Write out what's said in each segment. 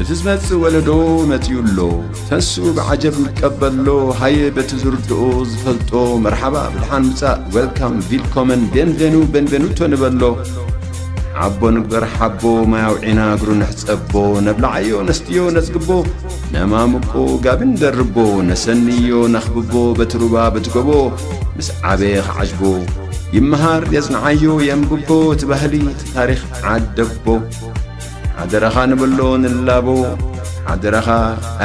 እቲ ዝመጽእ ወለዶ መጺኡ ኣሎ። ተንስኡ ብዓጀብ ንቀበሎ። ሃየ በቲ ዝርድኦ ዝፈልጦ መርሓባ ብድሓን ምጻእ፣ ዌልካም፣ ቪልኮመን፣ ቤንቬኑ፣ ቤንቬኑቶ ንበሎ። ሓቦ ንግበር ሓቦ፣ ማይ ኣውዒና እግሩ ንሕጸቦ። ነብልዓዮ ነስትዮ ነጽግቦ፣ ነማምቆ ጋቢ ንደርቦ። ነሰንዮ ነኽብቦ በቲ ሩባ በቲ ጎቦ። ምስ ዓበየ ክዓጅቦ ይመሃር የጽንዓዮ የንብቦ። እቲ ባህሊ እቲ ታሪኽ ዓደቦ። ሓደራኻ ንበሎ ንላቦ። ሓደራኻ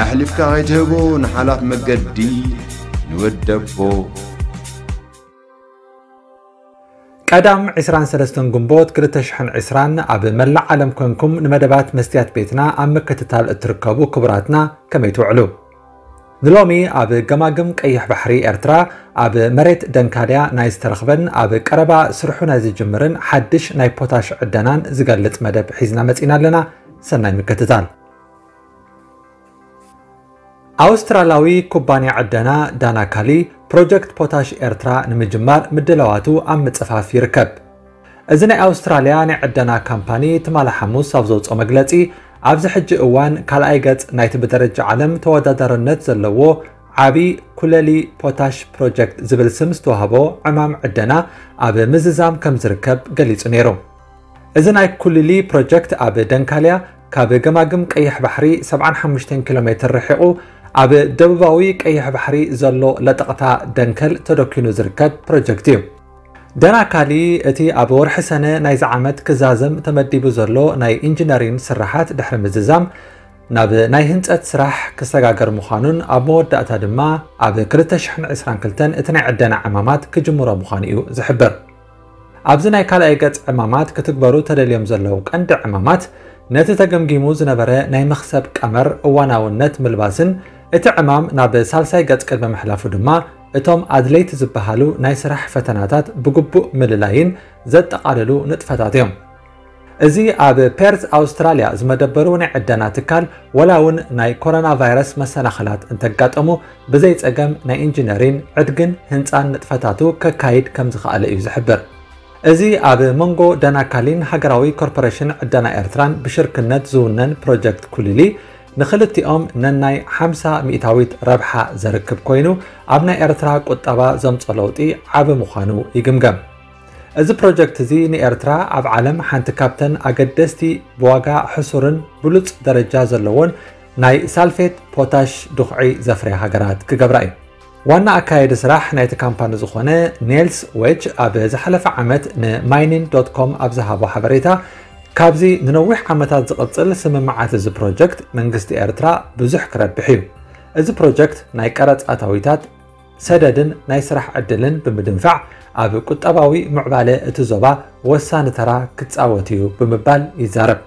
ኣሕሊፍካ ከይትህቦ ንሓላፍ መገዲ ንወደቦ። ቀዳም ዕስራን ሰለስተን ግንቦት ክልተ ሽሕን ዕስራን ኣብ መላእ ዓለም ኮንኩም ንመደባት መስትያት ቤትና ኣብ ምክትታል እትርከቡ ክቡራትና ከመይ ትውዕሉ? ንሎሚ ኣብ ገማግም ቀይሕ ባሕሪ ኤርትራ ኣብ መሬት ደንካልያ ናይ ዝተረኽበን ኣብ ቀረባ ስርሑ ናይ ዝጅምርን ሓድሽ ናይ ፖታሽ ዕደናን ዝገልጽ መደብ ሒዝና መጺና ኣለና። ሰናይ ምክትታል። ኣውስትራላዊ ኩባንያ ዕደና ዳናካሊ ፕሮጀክት ፖታሽ ኤርትራ ንምጅማር ምድላዋቱ ኣብ ምጽፋፍ ይርከብ። እዚ ናይ ኣውስትራልያ ናይ ዕደና ካምፓኒ ትማሊ ሓሙስ ኣብ ዘውፅኦ መግለፂ፣ ኣብዚ ሕጂ እዋን ካልኣይ ገጽ ናይቲ ብደረጃ ዓለም ተወዳዳርነት ዘለዎ ዓቢ ኩለሊ ፖታሽ ፕሮጀክት ዝብል ስም ዝተዋህቦ ዕማም ዕደና ኣብ ምዝዛም ከም ዝርከብ ገሊጹ ነይሩ። እዚ ናይ ኩልሊ ፕሮጀክት ኣብ ደንካልያ ካብ ገማግም ቀይሕ ባሕሪ ሰብዓን ሓሙሽተን ኪሎ ሜትር ርሒቑ ኣብ ደቡባዊ ቀይሕ ባሕሪ ዘሎ ለጠቕታ ደንከል ተደኪኑ ዝርከብ ፕሮጀክት እዩ። ደናካሊ እቲ ኣብ ወርሒ ሰነ ናይዚ ዓመት ክዛዘም ተመዲቡ ዘሎ ናይ ኢንጂነሪን ስራሓት ድሕሪ ምዝዛም ናብ ናይ ህንፀት ስራሕ ክሰጋገር ምዃኑን ኣብ መወዳእታ ድማ ኣብ ክልተ ሽሕን ዕስራን ክልተን እቲ ናይ ዕደና ዕማማት ክጅምሮ ምዃኑ እዩ ዝሕብር። ኣብዚ ናይ ካልኣይ ገጽ ዕማማት ክትግበሩ ተደልዮም ዘለዉ ቀንዲ ዕማማት ነቲ ተገምጊሙ ዝነበረ ናይ መኽሰብ ቀመር እዋናውነት ምልባስን እቲ ዕማም ናብ ሳልሳይ ገጽ ቅድሚ ምሕላፉ ድማ እቶም ኣድለይቲ ዝበሃሉ ናይ ስራሕ ፈተናታት ብግቡእ ምልላይን ዘጠቓልሉ ንጥፈታት እዮም። እዚ ኣብ ፔርዝ ኣውስትራልያ ዝመደበሩ ናይ ዕደና ትካል ወላ እውን ናይ ኮሮና ቫይረስ መሰናኽላት እንተጋጠሙ ብዘይ ጸገም ናይ ኢንጂነሪን፣ ዕድግን ህንጻን ንጥፈታቱ ከካይድ ከም ዝኸኣለ እዩ ዝሕብር። እዚ ኣብ መንጎ ደናካሊን ሃገራዊ ኮርፖሬሽን ዕደና ኤርትራን ብሽርክነት ዝውነን ፕሮጀክት ኩሊሊ ንኽልቲኦም ነናይ ሓምሳ ሚእታዊት ረብሓ ዘርክብ ኮይኑ ኣብ ናይ ኤርትራ ቁጠባ ዘምጾ ለውጢ ዓቢ ምዃኑ ይግምገም። እዚ ፕሮጀክት እዚ ንኤርትራ ኣብ ዓለም ሓንቲ ካብተን ኣገደስቲ ብዋጋ ሕሱርን ብሉጽ ደረጃ ዘለዎን ናይ ሳልፌት ፖታሽ ድኹዒ ዘፍርያ ሃገራት ክገብራ እዩ። ዋና ኣካየዲ ስራሕ ናይቲ ካምፓኒ ዝኾነ ኔልስ ዌች ኣብ ዝሓለፈ ዓመት ንማይኒን ዶት ኮም ኣብ ዝሃቦ ሓበሬታ፣ ካብዚ ንነዊሕ ዓመታት ዝቕጽል ስምምዓት እዚ ፕሮጀክት መንግስቲ ኤርትራ ብዙሕ ክረብሕ እዩ። እዚ ፕሮጀክት ናይ ቀረጽ ኣታዊታት፣ ሰደድን ናይ ስራሕ ዕድልን ብምድንፋዕ ኣብ ቁጠባዊ ምዕባለ እቲ ዞባ ወሳኒ ተራ ክጻወት እዩ ብምባል ይዛረብ።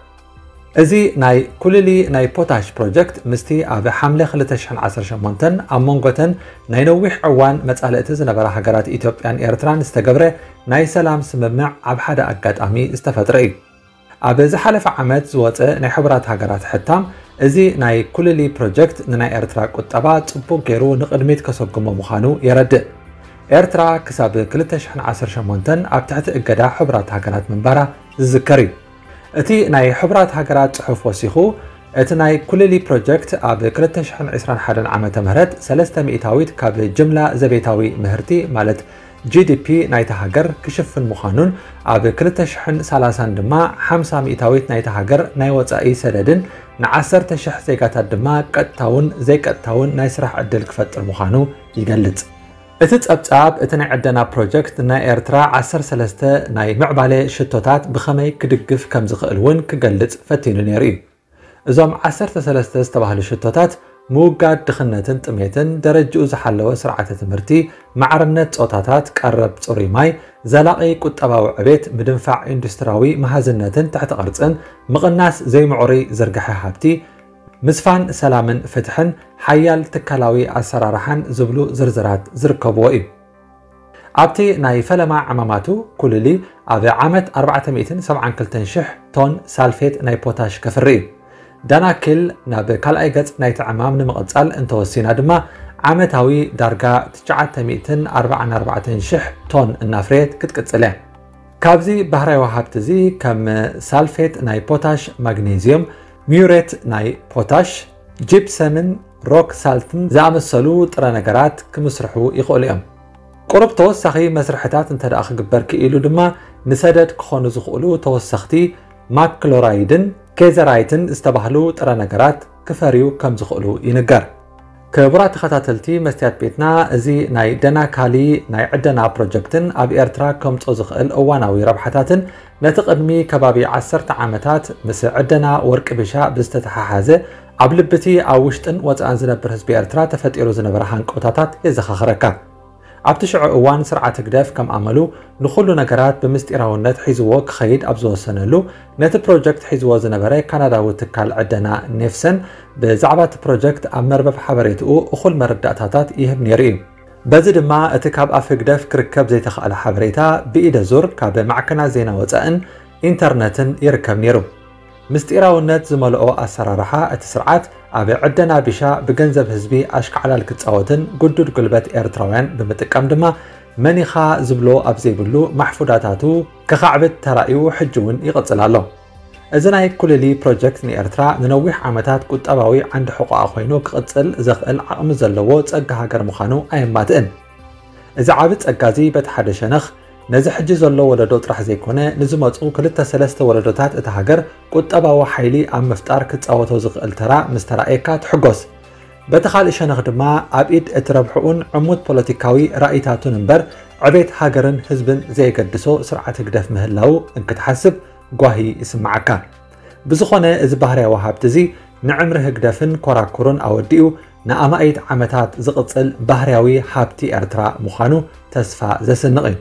እዚ ናይ ኩልሊ ናይ ፖታሽ ፕሮጀክት ምስቲ ኣብ ሓምለ ክልተ ሽሕን ዓሰርተ ሸሞንተን ኣብ መንጎተን ናይ ነዊሕ እዋን መጻልእቲ ዝነበራ ሃገራት ኢትዮጵያን ኤርትራን ዝተገብረ ናይ ሰላም ስምምዕ ኣብ ሓደ ኣጋጣሚ ዝተፈጥረ እዩ። ኣብ ዝሓለፈ ዓመት ዝወጸ ናይ ሕቡራት ሃገራት ሕታም፣ እዚ ናይ ኩልሊ ፕሮጀክት ንናይ ኤርትራ ቁጠባ ጽቡቕ ገይሩ ንቕድሚት ከሰጉሞ ምዃኑ የረድእ። ኤርትራ ክሳብ ክልተ ሽሕን ዓሰርተ ሸሞንተን ኣብ ትሕቲ እገዳ ሕቡራት ሃገራት ምንባራ ዝዝከር እዩ። እቲ ናይ ሕቡራት ሃገራት ጽሑፍ ወሲኹ፣ እቲ ናይ ኩልሊ ፕሮጀክት ኣብ ክልተ ሽሕን ዕስራን ሓደን ዓመተ ምህረት ሰለስተ ሚእታዊት ካብ ጅምላ ዘቤታዊ ምህርቲ ማለት ጂ ዲ ፒ ናይታ ሃገር ክሽፍን ምዃኑን ኣብ ክልተ ሽሕን ሰላሳን ድማ ሓምሳ ሚእታዊት ናይታ ሃገር ናይ ወጻኢ ሰደድን ንዓሰርተ ሽሕ ዜጋታት ድማ ቀጥታውን ዘይቀጥታውን ናይ ስራሕ ዕድል ክፈጥር ምዃኑ ይገልጽ። እቲ ጸብጻብ፣ እቲ ናይ ዕደና ፕሮጀክት ናይ ኤርትራ ዓሰርተ ሰለስተ ናይ ምዕባለ ሽቶታት ብኸመይ ክድግፍ ከም ዝኽእል እውን ክገልጽ ፈቲኑ ነይሩ እዩ። እዞም ዓሰርተ ሰለስተ ዝተባህሉ ሽቶታት፣ ምውጋድ ድኽነትን ጥሜትን፣ ደረጅኡ ዝሓለወ ስርዓተ ትምህርቲ፣ ማዕርነት ጾታታት፣ ቀረብ ጽሩይ ማይ፣ ዘላቒ ቁጠባዊ ዕቤት፣ ምድንፋዕ ኢንዱስትራዊ መሃዝነትን ትሕቲ ቅርጽን፣ ምቕናስ ዘይምዕሩይ ዝርግሐ ሃብቲ፣ ምስፋን ሰላምን ፍትሕን፣ ሓያል ትካላዊ ኣሰራርሓን ዝብሉ ዝርዝራት ዝርከብዎ እዩ። ኣብቲ ናይ ፈለማ ዕማማቱ፣ ኩልሊ ኣብ ዓመት ኣርባዕተ ሚእትን ሰብዓን ክልተን ሽሕ ቶን ሳልፌት ናይ ፖታሽ ከፍሪ እዩ። ዳናኪል ናብ ካልኣይ ገጽ ናይቲ ዕማም ንምቕጻል እንተወሲና ድማ፣ ዓመታዊ ዳርጋ ትሽዓተ ሚእትን ኣርባዓን ኣርባዕተን ሽሕ ቶን እናፍረየት ክትቅጽል እያ። ካብዚ ባህርያዊ ሃብቲ እዚ፣ ከም ሳልፌት ናይ ፖታሽ፣ ማግኔዝዮም፣ ሚዩሬት ናይ ፖታሽ፣ ጂፕሰምን ሮክ ሳልትን ዝኣመሰሉ ጥረ ነገራት ክምስርሑ ይኽእሉ እዮም። ቁሩብ ተወሳኺ መስርሕታት እንተ ደኣ ክግበር ክኢሉ ድማ፣ ንሰደድ ክኾኑ ዝኽእሉ ተወሰኽቲ ማክሎራይድን ኬዘራይትን ዝተባህሉ ጥረ ነገራት ክፈርዩ ከም ዝኽእሉ ይንገር። ክቡራት ተኸታተልቲ መስትያት ቤትና፣ እዚ ናይ ደናካሊ ናይ ዕደና ፕሮጀክትን ኣብ ኤርትራ ከምጾ ዝኽእል እዋናዊ ረብሓታትን፣ ነቲ ቅድሚ ከባቢ ዓሰርተ ዓመታት ምስ ዕደና ወርቂ ቢሻ ብዝተተሓሓዘ፣ ኣብ ልብቲ ኣብ ውሽጥን ወጻእን ዝነብር ህዝቢ ኤርትራ ተፈጢሩ ዝነበረ ሃንቀውታታት የዘኻኽረካ። ኣብቲ ሽዑ እዋን፣ ስርዓት ህግደፍ ከም ኣመሉ ንኹሉ ነገራት ብምስጢራውነት ሒዝዎ ክኸይድ ኣብ ዝወሰነሉ፣ ነቲ ፕሮጀክት ሒዝዎ ዝነበረ ካናዳዊ ትካል ዕደና ኔፍሰን፣ ብዛዕባ እቲ ፕሮጀክት ኣብ መርበብ ሓበሬትኡ እኹል መረዳእታታት ይህብ ነይሩ እዩ። በዚ ድማ፣ እቲ ካብ ኣፍ ህግደፍ ክርከብ ዘይተኻእለ ሓበሬታ ብኢደ ዙር ካብ ማዕከናት ዜና ወጻእን ኢንተርነትን ይርከብ ነይሩ። ምስጢራውነት ዝመልኦ ኣሰራርሓ እቲ ስርዓት፣ ኣብ ዕደና ቢሻ ብገንዘብ ህዝቢ ኣሽካዕላል ክጻወትን ግዱድ ጉልበት ኤርትራውያን ብምጥቃም ድማ፣ መን ኢኻ ዝብሎ ኣብ ዘይብሉ ማሕፉዳታቱ ክኻዕብት ተራእዩ፣ ሕጂ እውን ይቕጽል ኣሎ። እዚ ናይ ኩልሊ ፕሮጀክት ንኤርትራ ንነዊሕ ዓመታት ቁጠባዊ ዓንዲ ሕቖኣ ኮይኑ ክቕጽል ዘኽእል ዓቕሚ ዘለዎ ጸጋ ሃገር ምዃኑ ኣየማትእን። እዚ ዓቢ ጸጋ እዚ በቲ ሓደ ሸነኽ ነዚ ሕጂ ዘሎ ወለዶ ጥራሕ ዘይኮነ፣ ንዝመጹ ክልተ ሰለስተ ወለዶታት እታ ሃገር ቁጠባዊ ሓይሊ ኣብ ምፍጣር ክጻወቶ ዝኽእል ተራ ምስ ተራእየካ ትሕጎስ። በቲ ካልእ ሸነኽ ድማ፣ ኣብ ኢድ እቲ ረብሕኡን ዕሙት ፖለቲካዊ ራእይታቱን እምበር፣ ዕቤት ሃገርን ህዝብን ዘየገድሶ ስርዓት ህግደፍ ምህላዉ እንክትሓስብ ጓሂ ይስምዓካ። ብዝኾነ፣ እዚ ባህርያዊ ሃብቲ እዚ ንዕምሪ ህግደፍን ኮራኩሩን ኣወዲኡ፣ ንኣማኢት ዓመታት ዝቕጽል ባህርያዊ ሃብቲ ኤርትራ ምዃኑ ተስፋ ዘስንቕ እዩ።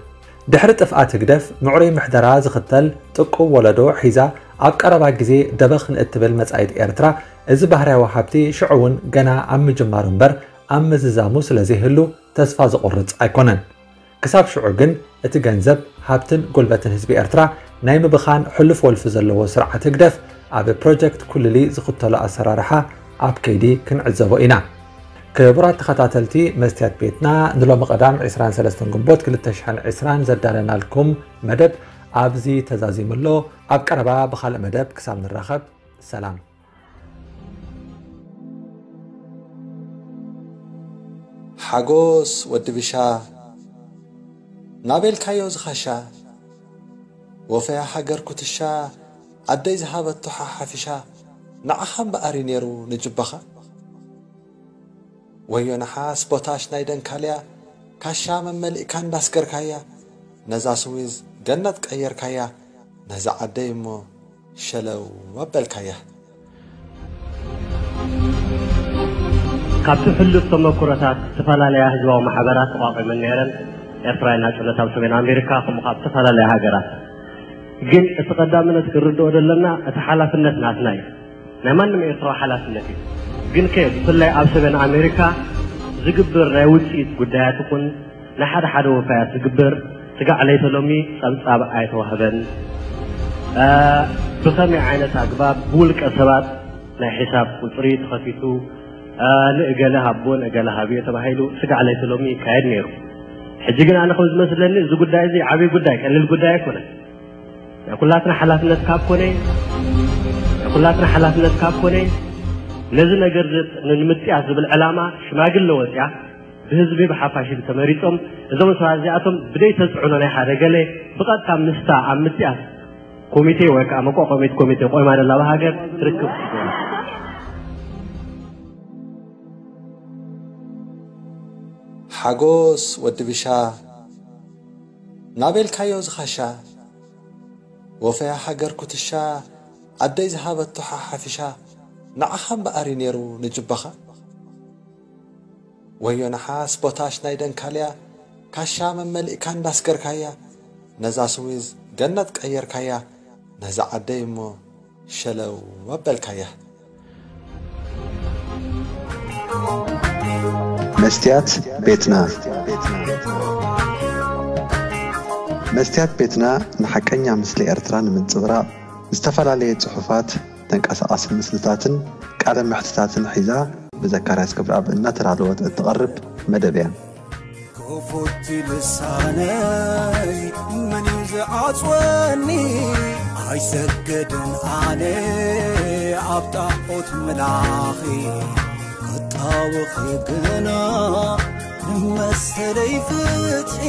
ድሕሪ ጥፍኣት ህግደፍ፣ ምዕሩይ ምሕደራ ዝኽተል ጥቁብ ወለዶ ሒዛ ኣብ ቀረባ ግዜ ደበኽ ንእትብል መጻኢት ኤርትራ፣ እዚ ባህርያዊ ሃብቲ ሽዑ እውን ገና ኣብ ምጅማሩ እምበር ኣብ ምዝዛሙ ስለ ዘይህሉ ተስፋ ዘቑርጽ ኣይኮነን። ክሳብ ሽዑ ግን እቲ ገንዘብ፣ ሃብትን ጉልበትን ህዝቢ ኤርትራ ናይ ምብኻን ሕሉፍ ወልፊ ዘለዎ ስርዓት ህግደፍ ኣብ ፕሮጀክት ኩልሊ ዝኽተሎ ኣሰራርሓ ኣብ ከይዲ ክንዕዘቦ ኢና። ክቡራት ተኸታተልቲ መስትያት ቤትና፣ ንሎሚ ቀዳም ዕስራን ሰለስተን ግንቦት ክልተ ሽሕን ዕስራን ዘዳለናልኩም መደብ ኣብዚ ተዛዚሙ ኣሎ። ኣብ ቀረባ ብኻልእ መደብ ክሳብ ንራኸብ፣ ሰላም። ሓጎስ ወዲ ብሻ፣ ናበልካዮ ዝኻሻ፣ ወፈያ ሃገር ኩትሻ፣ ኣደይ ዝሃበቶ ሓሓፊሻ፣ ንዓኻ እምበኣር እዩ ነይሩ ንጅባኻ። ወዮ ነሓስ ቦታሽ ናይ ደንካልያ፣ ካሻ መመሊእካ እንዳስገርካያ፣ ነዛ ስዊዝ ገነት ቀየርካያ፣ ነዛ ዓደይ እሞ ሸለው ኣበልካያ። ካብቲ ሕሉፍ ተመኩሮታት፣ ዝተፈላለያ ህዝባዊ ማሕበራት ተቋቒመን ነይረን። ኤርትራውያን ናጽነት ኣብ ሰሜን ኣሜሪካ፣ ከምኡ ካብ ዝተፈላለያ ሃገራት። ግን እቲ ቀዳምነት ክንርድኦ ዘለና፣ እቲ ሓላፍነት ናትና እዩ። ናይ ማንም ኤርትራዊ ሓላፍነት እዩ። ግን ከ ብፍላይ ኣብ ሰሜን ኣሜሪካ ዝግብር ናይ ውጽኢት ጉዳያት ይኹን ንሓደ ሓደ ወፋያት ዝግበር ስጋዕ ለይተ ሎሚ ጸብጻብ ኣይተዋህበን። እ፣ ብኸመይ ዓይነት ኣግባብ ብውልቀ ሰባት ናይ ሒሳብ ቁጽሪ ተኸፊቱ፣ እ፣ ንእገለ ሃቦ ንእገለ ሃብዮ ተባሂሉ ስጋዕ ለይተ ሎሚ ይካየድ ነይሩ። ሕጂ ግን ኣነ ከም ዝመስለኒ እዚ ጉዳይ እዚ ዓብዪ ጉዳይ፣ ቀሊል ጉዳይ ኣይኮነን። ናይ ኩላትና ሓላፍነት ካብ ኮነ፣ ናይ ኩላትና ሓላፍነት ካብ ኮነ፣ ነዚ ነገር እዚ ንምጥያስ ዝብል ዕላማ ሽማግለ ወጽያ ብህዝቢ ብሓፋሽ ተመሪጾም፣ እዞም ሰባት እዚኣቶም ብደይ ተጽዕኖ ናይ ሓደ ገለ ብቐጥታ ምስታ ኣብ ምጥያስ ኮሚቴ ወይ ከዓ መቋቋሚት ኮሚቴ ቆይማ ደላ ሃገር ትርክብ። ሓጎስ ወዲ ብሻ፣ ናበልካዮ ዝኻሻ፣ ወፈያ ሃገር ኩትሻ፣ ኣደይ ዝሃበቶ ሓሓፊሻ፣ ንዓኻ እምበኣር እዩ ነይሩ ንጅባኻ። ወዮ ነሓስ ቦታሽ ናይ ደንካልያ፣ ካሻ መመሊእካ እንዳስገርካያ፣ ነዛ ስዊዝ ገነት ቀየርካያ፣ ነዛ ዓደይ እሞ ሸለው ኣበልካያ። መስትያት ቤትና። መስትያት ቤትና ንሓቀኛ ምስሊ ኤርትራ ንምንጽብራቕ፣ ዝተፈላለየ ጽሑፋት፣ ተንቀሳቓሲ ምስልታትን ቃለ መሕትታትን ሒዛ ብዘካርያስ ክብረኣብ እናተዳለወት እትቐርብ መደብ እያ። ክፉት ልሳነይ መን እዩ ዝዓጽወኒ? ኣይሰገድን ኣነ ኣብ ጣዖት መላኺ ክጣወኺ ግና ንመሰለይ ፍትሒ